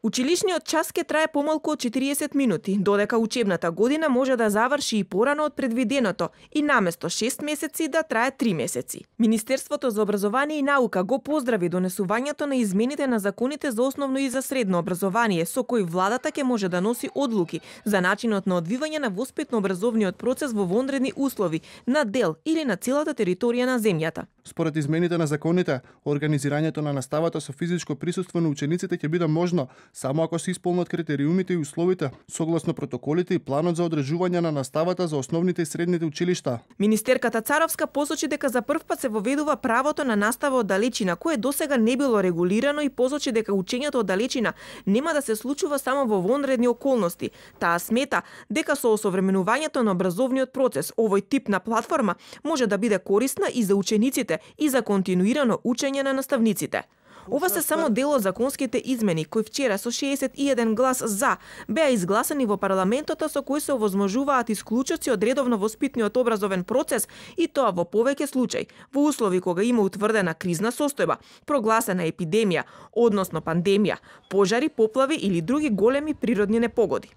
Училишниот час ќе трае помалку од 40 минути, додека учебната година може да заврши и порано од предвиденото и наместо 6 месеци да трае 3 месеци. Министерството за образование и наука го поздрави донесувањето на измените на законите за основно и за средно образование, со кои владата ќе може да носи одлуки за начинот на одвивање на воспитно-образовниот процес во вонредни услови на дел или на целата територија на земјата. Според измените на законите, организирањето на наставата со физичко присуство на учениците ќе биде можно само ако се исполнат критериумите и условите согласно протоколите и планот за одржување на наставата за основните и средните училишта. Министерката Царовска посочи дека за прв пат се воведува правото на настава од далечина, кое досега не било регулирано, и посочи дека учењето од далечина нема да се случува само во вонредни околности. Таа смета дека со осовременувањето на образовниот процес овој тип на платформа може да биде корисна и за учениците и за континуирано учење на наставниците. Ова се само дел од законските измени кои вчера со 61 глас за беа изгласани во парламентот, со кои се овозможуваат исклучоци од редовно воспитниот образовен процес, и тоа во повеќе случаи во услови кога има утврдена кризна состојба, прогласена епидемија, односно пандемија, пожари, поплави или други големи природни непогоди.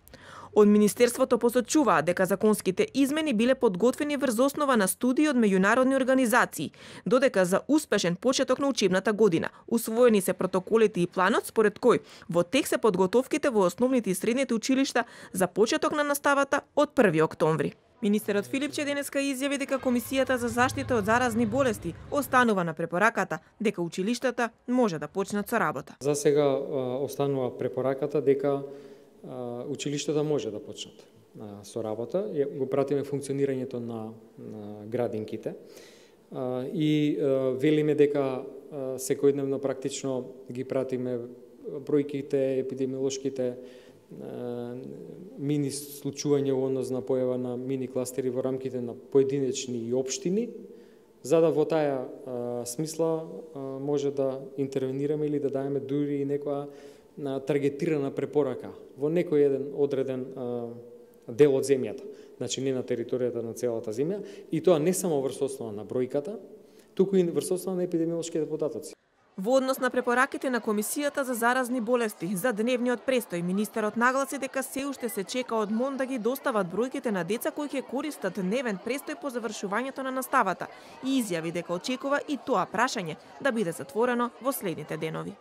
Од Министерството посочуваат дека законските измени биле подготвени врз основа на студии од меѓународни организации, додека за успешен почеток на учебната година усвоени се протоколите и планот според кој во тек се подготовките во основните и средните училишта за почеток на наставата од 1 октомври. Министерот Филипче денеска изјави дека Комисијата за заштита од заразни болести останува на препораката дека училиштата може да почнат со работа. За сега останува препораката дека училиштата може да почнат со работа. Го пратиме функционирањето на градинките и велиме дека секојдневно практично ги пратиме бројките, епидемиолошките мини случувања во однос на појава на мини кластери во рамките на поединечни и општини, за да во таа смисла може да интервенираме или да даеме дури и некоја таргетирана препорака во некој еден одреден дел од земјата, значи не на територијата на целата земја, и тоа не само врз основа на бројката, туку и врз основа на епидемиолошките податоци. Во однос на препораките на Комисијата за заразни болести за дневниот престој, министерот нагласи дека се уште се чека од МОН да ги достават бројките на деца кои ќе користат дневен престој по завршувањето на наставата, и изјави дека очекува и тоа прашање да биде затворено во следните денови.